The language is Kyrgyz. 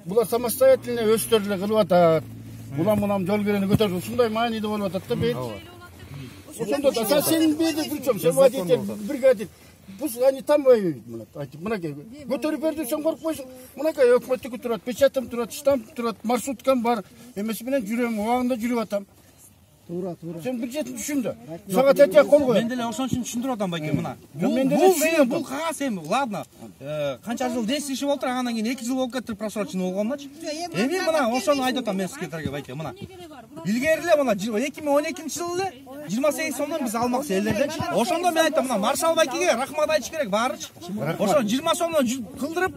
Булар самостоятельно өздөрү эле кылып атат. Улам жол кирени көтөрүп ушундай мааниде болуп атат да бейт. Ошондо да сен бейди причем, сен водитель, бригадир. Они там воюют, мынакей. Көтөрүп берди, сен коркпойсуң. Мынакей өкмөттүкү турат, печатым турат, штамп турат, маршруткам бар. Эмеси менен жүрөм, убагында жүрүп атам. Туура. Сен бюджетин түшүн да. Сага тетия кол кой. Мен деле ошон үчүн түшүндүрүп атам байке мына. Бул кагаз эми, ладно. Канча жыл действующий болуп тур, андан кийин 2 жыл болуп кетти просроченный болгондочу. Эми мына ошону айтып атам мен секретарга байке мына. Илгери эле мына 2012-жылы эле 28 сомдон биз алмакчы элдерден. Ошондо мен айттым мына маршал байкеге рахмат айтыш керек баарычы. Ошо 20 сомдон кылдырып